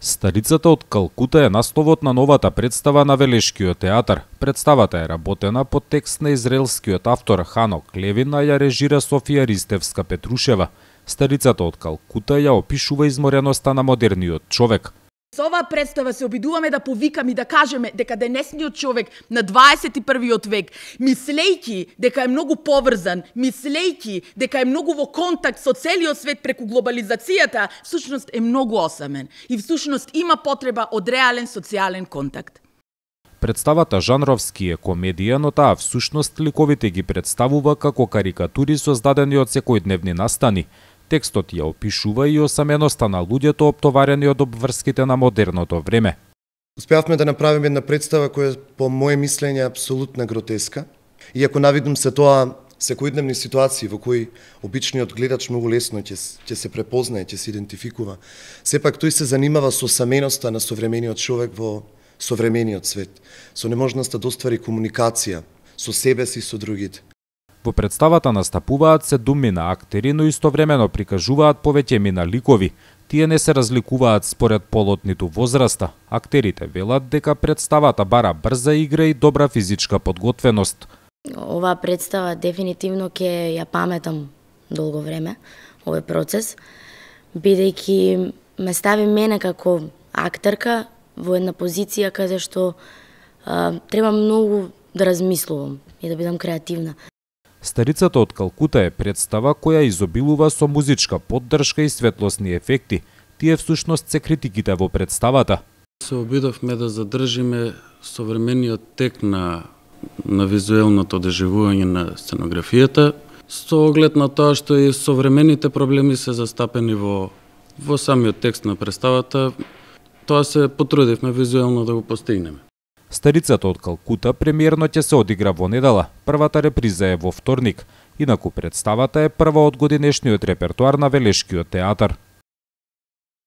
Старицата од Калкута е насловот на новата представа на Велешкиот театар. Представата е работена по текст на израелскиот автор Ханок Левин, а ја режира Софија Ристевска-Петрушева. Старицата од Калкута ја опишува измореността на модерниот човек. Со оваа представа се обидуваме да повикаме и да кажеме дека денесниот човек на 21. век, мислејќи дека е многу поврзан, мислејќи дека е многу во контакт со целиот свет преку глобализацијата, всушност е многу осамен и всушност има потреба од реален социјален контакт. Представата жанровски е комедија, но таа всушност ликовите ги представува како карикатури создадени од секојдневни настани. Текстот ја опишува и осаменоста на луѓето оптоварени од обврските на модерното време. Успеавме да направиме една представа која по моје мислење е апсолутна гротеска. Иако навидум се тоа секојдневни ситуации во кои обичниот гледач многу лесно ќе се препознае, ќе се идентификува, сепак тој се занимава со осаменоста на современиот човек во современиот свет, со неможноста да оствари комуникација со себе си и со другите. Во представата настапуваат 7 актери, но истовремено прикажуваат повеќемина ликови. Тие не се разликуваат според полот ниту возраста. Актерите велат дека представата бара брза игра и добра физичка подготвеност. Оваа представа дефинитивно ќе ја паметам долго време, овој процес, бидејќи ме стави мене како актерка во една позиција каде што треба многу да размислувам и да бидам креативна. Старицата од Калкута е представа која изобилува со музичка поддршка и светлосни ефекти. Тие всушност се критиките во представата. Се обидовме да задржиме современиот тек на визуелното доживување на сценографијата, со оглед на тоа што и современите проблеми се застапени во самиот текст на представата. Тоа се потрудивме визуелно да го постигнеме. Старицата од Калкута премиерно ќе се одигра во недела, првата реприза е во вторник, инаку представата е прва од годинешниот репертоар на Велешкиот театар.